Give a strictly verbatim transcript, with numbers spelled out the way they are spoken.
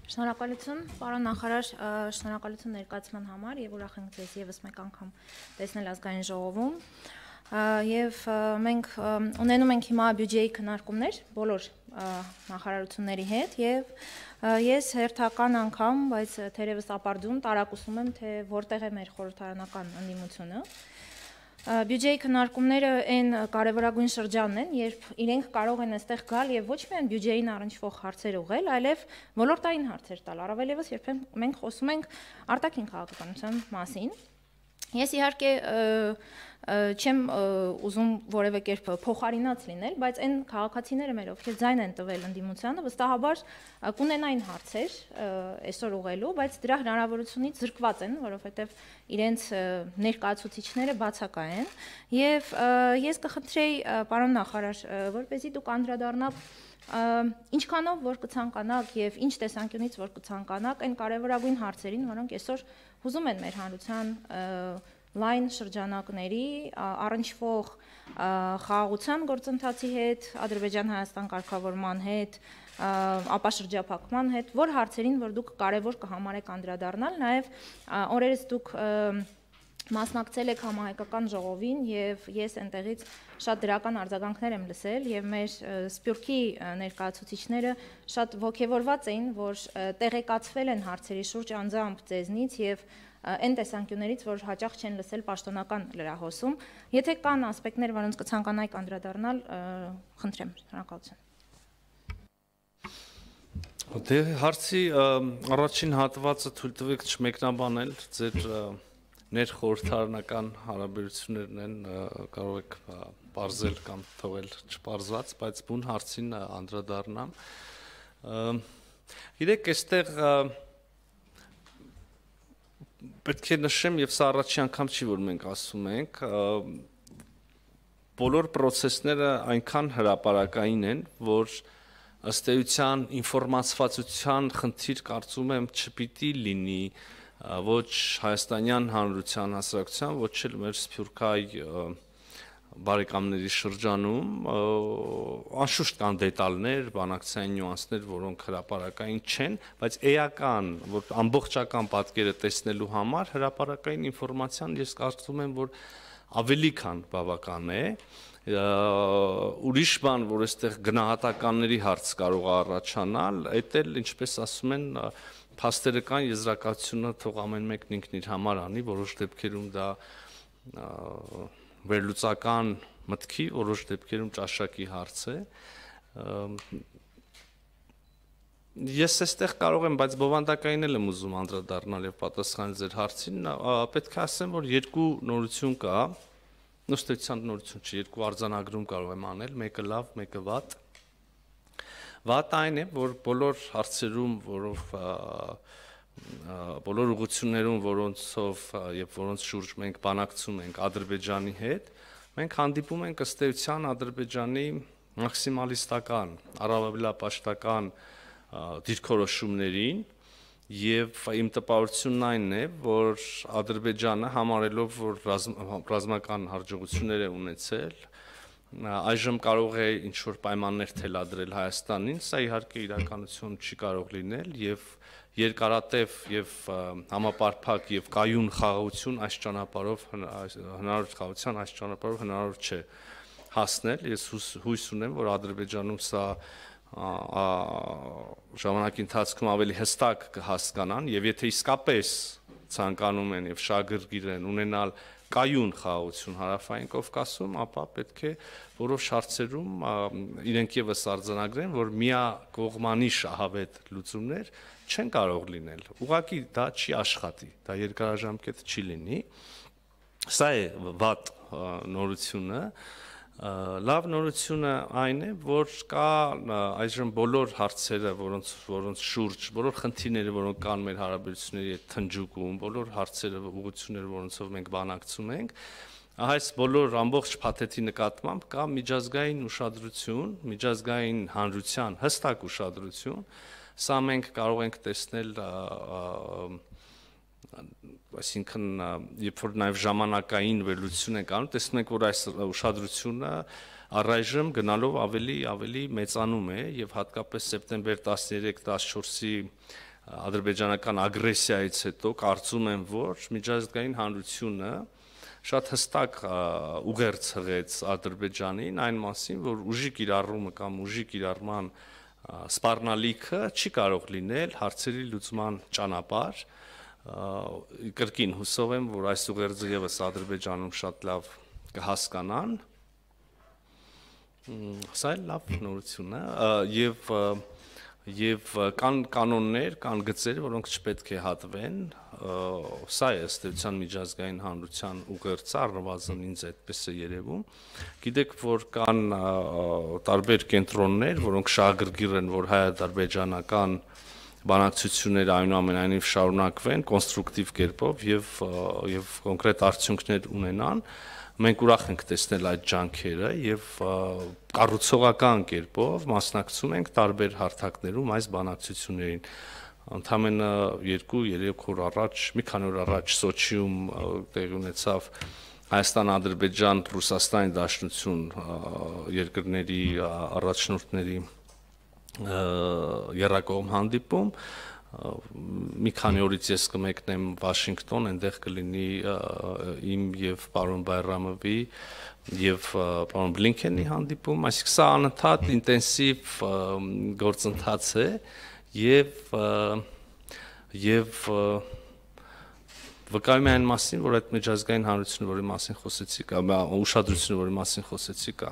Շնորհակալություն, պարոն նախարար, շնորհակալություն ներկայացման համար եւ ուրախ ենք ձեզ եւս մեկ անգամ տեսնել ազգային ժողովում։ Եվ մենք ունենում ենք հիմա բյուջեի քննարկումներ բոլոր նախարարությունների հետ եւ ես հերթական անգամ, բայց թերևս ապարդյուն տարակուսում եմ, թե որտեղ է մեր խորհրդարանական ընդդիմությունը։ Բյուջեի քննարկումները այն կարևորագույն շրջանն են, երբ իրենք կարող են այստեղ գալ եւ ոչ միայն բյուջեին առնչվող հարցեր ուղղել, այլև ոլորտային հարցեր տալ, առավել եւս երբ մենք խոսում ենք արտաքին քաղաքականության մասին։ Ես իհարկե չեմ ուզում որևէ կերպ փոխարինած լինել, բայց այն քաղաքացիները մեր, ովքեր ձայն են տվել ընդդիմությանը, վստահաբար կունենային հարցեր այսօր ուղղելու, բայց դրա հնարավորությունից զրկված են, որովհետև իրենց ներկայացուցիչները բացակայ են, եւ ես կխնդրեի, պարոն նախարար, որպեսզի դուք անդրադառնաք ինչքանով որ կցանկանաք եւ ինչ տեսանկյունից որ կցանկանաք այն կարևորագույն հարցերին, որոնք այսօր հուզում են մեր հանրության լայն շրջանակների առնչվող խաղաղության գործընթացի հետ, Ադրբեջան-Հայաստան կարգավորման հետ, ապաշրջափակման հետ, որ հարցերին, որ դուք կարևոր կհամարեք անդրադառնալ, նաեւ օրերս դուք մասնակցել եք համահայկական ժողովին եւ ես այնտեղից շատ դրական արձագանքներ եմ լսել եւ մեր Սփյուռքի ներկայացուցիչները շատ ողջևորված էին, որ տեղեկացվել են հարցերի շուրջ անձամբ ձեզնից եւ այն տեսանկյուններից, որ հաճախ չեն լսել պաշտոնական լրահոսում։ Եթե կան ասպեկտներ, որոնց կցանկանայիք անդրադառնալ, խնդրեմ, շնորհակալություն։ Դե հարցի առաջին հատվածը թույլ տվեք չմեկնաբանել, ձեր ներխորհրդարանական հարաբերություններն են, կարող եք բարձել կամ թողել չբարձված, բայց բուն հարցին անդրադառնամ։ Գիտեք, այստեղ պետք է նշեմ, եւ սա առաջի անգամ չի, որ մենք ասում ենք, բոլոր process-ները այնքան հրապարակային են, որ ըստ էության ինֆորմացվածության խնդիր կարծում եմ չպիտի լինի ոչ հայաստանյան հանրության հասարակության, ոչ էլ մեր սփյուռքահայ բարեկամների շրջանում, անշուշտ կան դետալներ, բանակցային նյուանսներ, որոնք հրապարակային չեն, բայց էական, որ ամբողջական պատկերը տեսնելու համար հրապարակային ինֆորմացիան ես կարծում եմ, որ ավելի քան բավական է, ուրիշ բան, որ այստեղ գնահատականների հարց կարող է առաջանալ, այդ էլ ինչպես ասում են, փաստերը կան, եզրակացությունը թող ամեն մեկն ինքն իր համար անի, որոշ դեպքերում դա վերլուծական մտքի, որոշ դեպքերում ճաշակի հարց է։ Ես այստեղ կարող եմ, բայց բովանդակային էլ եմ ուզում անդրադառնալ եւ պատասխանել ձեր հարցին, պետք է ասեմ, որ երկու նորություն կա, նստեցան նորություն չի, երկու արձանագրում կարող եմ անել, մեկը լավ, մեկը վատ։ Վատ այն է, որ բոլոր հարցերում, որով բոլոր ուղղություններում, որոնցով եւ որոնց շուրջ մենք բանակցում ենք Ադրբեջանի հետ, մենք հանդիպում ենք ըստ էության Ադրբեջանի մաքսիմալիստական, առավելապաշտական դիրքորոշումներին եւ իմ տպավորությունն այն է, որ Ադրբեջանը համարելով, որ ռազմական հաջողություններ է ունեցել, այժմ կարող է ինչ-որ պայմաններ թելադրել Հայաստանին, սա իհարկե իրականություն չի կարող լինել եւ երկարատև եւ համապարփակ եւ կայուն խաղաղություն այս ճանապարհով հնարավոր խաղաղության այս ճանապարհով հնարավոր չէ հասնել։ Ես հույս ունեմ, որ Ադրբեջանում սա ժամանակի ընթացքում ավելի հստակ կհասկանան եւ եթե իսկապես ցանկանում են եւ շահագրգիռ են ունենալ կայուն խաղաղություն հարավային Կովկասում, ապա պետք է որոշ հարցերում իրենք եւս արձանագրեն, որ միակողմանի շահավետ լուծումներ չեն կարող լինել։ Ուղղակի դա չի աշխատի, դա երկարաժամկետ չի լինի։ Սա է վատ նորությունը։ Լավ նորությունը այն է, որ կա այժմ բոլոր հարցերը, որոնց որոնց շուրջ, բոլոր խնդիրները, որոնք կան մեր հարաբերությունների հետ թնջուկում, բոլոր հարցերը, ուղղությունները, որոնցով մենք բանակցում ենք, այս բոլոր ամբողջ փաթեթի նկատմամբ կա միջազգային ուշադրություն, միջազգային հանրության հստակ ուշադրություն, սա մենք կարող ենք տեսնել այսինքն երբ որ նաև ժամանակային վերլուծություն ենք անում, տեսնում ենք, որ այս ուշադրությունը առայժմ գնալով ավելի ավելի մեծանում է եւ հատկապես սեպտեմբեր տասներեք տասնչորսի ադրբեջանական ագրեսիայից հետո կարծում եմ, որ միջազգային հանրությունը շատ հստակ ուղերձ հղեց Ադրբեջանին այն մասին, որ ուժի կիրառումը կամ ուժի կիրառման սպառնալիքը չի կարող լինել հարցերի լուծման ճանապարհ։ Կրկին հուսով եմ, որ այս ուղերձը եւս Ադրբեջանում շատ լավ կհասկանան։ Սա էլ լավ նորություն է եւ Եվ կան կանոններ, կան գծեր, որոնք չպետք է հատվեն, սա է ըստ էության միջազգային հանրության ուղերձը, առնվազն ինձ այդպես է երևում։ Գիտեք, որ կան տարբեր կենտրոններ, որոնք շահագրգիռ են, որ հայ-ադրբեջանական բանակցությունները այնուամենայնիվ շարունակվեն կոնստրուկտիվ կերպով եւ եւ կոնկրետ արդյունքներ ունենան։ Մենք ուրախ ենք տեսնել այդ ջանքերը եւ կառուցողական կերպով մասնակցում ենք տարբեր հարթակներում այս բանակցություններին։ Ընդամենը երկու երեք օր առաջ, մի քանի օր առաջ Սոչիում տեղի ունեցավ Հայաստան-Ադրբեջան, Ռուսաստանի Դաշնություն երկրների առաջնորդների եռակողմ հանդիպում։ Մի քանի օրից ես կմեկնեմ Վաշինգտոն, այնտեղ կլինի իմ եւ պարոն Բայրամովի եւ պարոն Բլինքենի հանդիպում, այսինքն սա անընդհատ ինտենսիվ գործընթաց է եւ եւ վկայում է այն մասին, որ այդ միջազգային հանրությունը, որի մասին խոսեցի, կամ ուշադրությունը, որի մասին խոսեցի կա։